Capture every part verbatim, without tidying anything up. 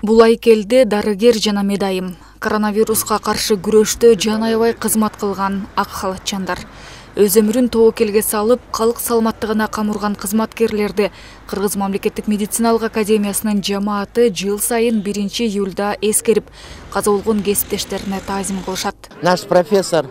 Булайкелде дарыгер жана медайым. Коронавируска каршы күрөштө жан аябай кызмат кылган ак халатчандар. Өз өмүрүн тобокелге салып, калк саламаттыгына камурган кызматкерлерди Кыргыз мамлекеттик медициналык академиясынын жамааты жыл сайын биринчи июлда эскерип, каза болгон кесиптештерине таазим кылышат. Наш профессор,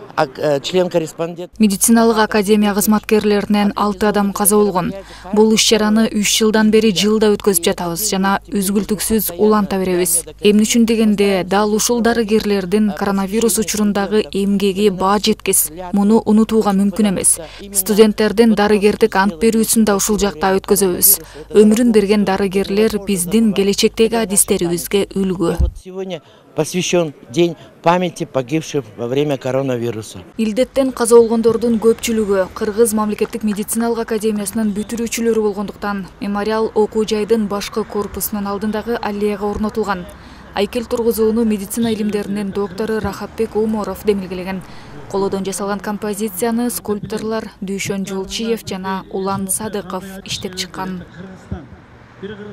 член-корреспондент. Медициналык академия кызматкерлеринен алты адам каза болгон. Бул иш-чараны үч жылдан бери жылда өткөзүп жатабыз жана үзгүлтүксүз уланта беребиз. Эмне үчүн дегенде, дал ушул дарыгерлердин коронавирус учурундагы эмгеги баа жеткис. Муну унутууга мүмкүн эмес. Студенттердин дарыгердик ант берүүсүн да ушул жакта өткөзөбүз. Өмүрүн берген дарыгерлер биздин келечектеги адистерибизге үлгү. Сегодня посвящен день памяти погибших во время коронавируса. Илдеттен каза болгондордун көпчүлүгү Кыргыз мамлекеттик медициналык академиясынын бүтүрүүчүлөрү болгондуктан мемориал окуу жайдын башкы корпусунун алдындагы аллеяга орнотулган. Айкел тургузууну медицина илимдеринин доктору Рахатбек Уморов демилгелеген. Колодон жасалган композицияны скульпторлор Дүйшөн Жолчиев жана Улан Садыков иштеп чыккан.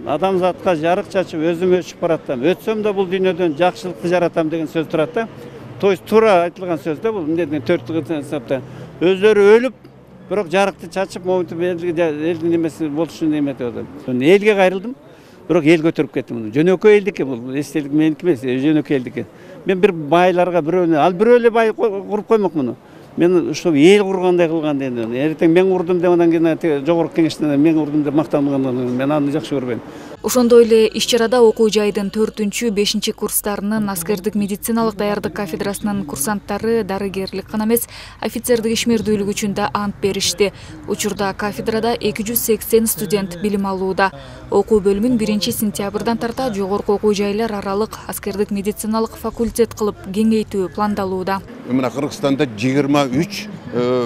Адамзатка жарык чачып өзүм өчүп баратам. Өтсөм да бул дүйнөдөн жакшылыкты жаратам деген сөз турат да. То есть туура айтылган сөз да бул. Эмне төрт сапта өздөрү өлүп, бирок жарыкты чачып, момунтип элдин немеси болушун эметип атат. Элге кайрылдым. Бирок эл көтөрүп кеттим. Жөнөкөй элдики бул, эстелик меники эмес, жөнөкөй элдики. Мен бир байларга бирөөнү, ал бирөө эле бай куруп коймок муну. Мен ушул эл кургандай кылган дедим. Эртең мен курдум деп анан кийин жогорку кеңештен мен курдум деп мактанган, мен аны жакшы көрбөйм. Ошондой эле иш-чарада окуу жайдын төртүнчү бешинчи курстарынын аскердик медициналык даярдык кафедрасынын курсанттары дарыгерлик гана эмес, офицердик ишмердүүлүк үчүн да ант беришти. Учурда кафедрада эки жүз сексен студент билим алууда. Окуу бөлүмүн биринчи сентябрдан тарта жогорку окуу жайлар аралык аскердик медициналык факультет кылып кеңейтүү пландалууда. Мына Кыргызстанда жыйырма үч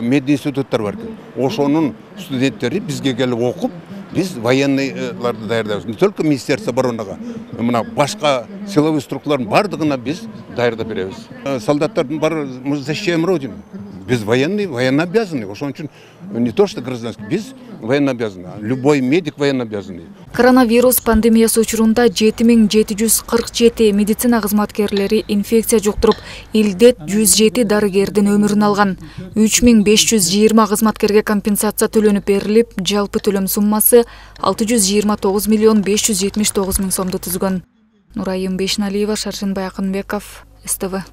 мединституттар бар. Ошонун студенттери бизге келип окуп, biz военныйларды даярдайбыз. Не только Министерство обороныга, мына башка силовой структуралардын бардыгына биз даярдап беребиз. Солдаттардын баары мы защищаем родину. Biz военный, военнообязанный. Ошон үчүн не то что гражданский, биз военнообязанный. Любой медик военнообязанный. Коронавирус пандемиясы учурунда жети миң жети жүз кырк жети медицина кызматкерлери инфекция жуктуруп, илдет жүз жети дарыгердин өмүрүн алган. үч миң беш жүз жыйырма кызматкерге компенсация төлөнүп берилип, жалпы төлөм суммасы алты жүз жыйырма тогуз миллион беш жүз жетимиш тогуз миң сомду түзгөн. Нурайым Бешналиева, Шаршенбай Акынбеков, эс тэ вэ.